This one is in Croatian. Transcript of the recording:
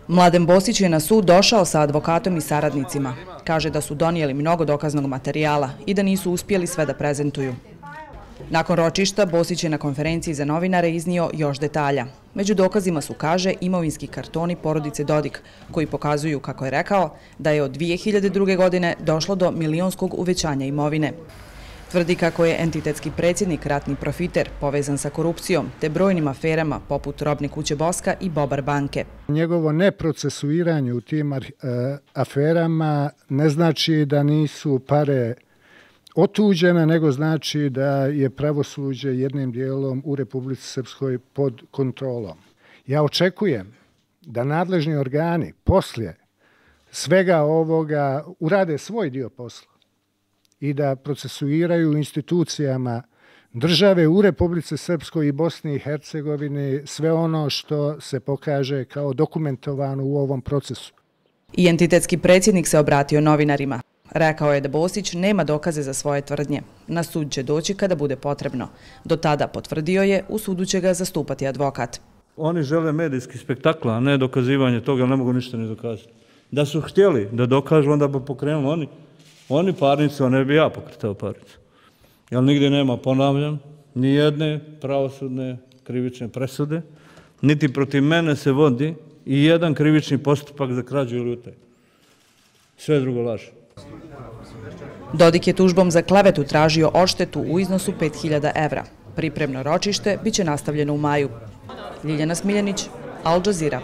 Mladen Bosić je na sud došao sa advokatom i saradnicima. Kaže da su donijeli mnogo dokaznog materijala i da nisu uspjeli sve da prezentuju. Nakon ročišta, Bosić je na konferenciji za novinare iznio još detalja. Među dokazima su, kaže, imovinski kartoni porodice Dodik, koji pokazuju, kako je rekao, da je od 2002. godine došlo do milionskog uvećanja imovine. Tvrdi kako je entitetski predsjednik ratni profiter povezan sa korupcijom te brojnim aferama poput Robne kuće Boska i Bobar banke. Njegovo neprocesuiranje u tim aferama ne znači da nisu pare otuđene, nego znači da je pravosuđe jednim dijelom u Republici Srpskoj pod kontrolom. Ja očekujem da nadležni organi poslije svega ovoga urade svoj dio posla i da procesuiraju institucijama države u Republici Srpskoj i Bosni i Hercegovini sve ono što se pokaže kao dokumentovano u ovom procesu. I entitetski predsjednik se obratio novinarima. Rekao je da Bosić nema dokaze za svoje tvrdnje. Na sud će doći kada bude potrebno. Do tada, potvrdio je, u sudu će ga zastupati advokat. Oni žele medijski spektakl, a ne dokazivanje toga, jer ne mogu ništa ni dokazati. Da su htjeli da dokažu, onda bi pokrenuli oni parnicu, a ne bi ja pokretao parnicu. Jer nigdje nema, ponavljam, ni jedne pravosudne krivične presude, niti protiv mene se vodi i jedan krivični postupak za krađu ili utaju. Sve drugo laže. Dodik je tužbom za klevetu tražio odštetu u iznosu 5.000 evra. Pripremno ročište biće nastavljeno u maju. Ljiljana Smiljanić, Al Jazeera.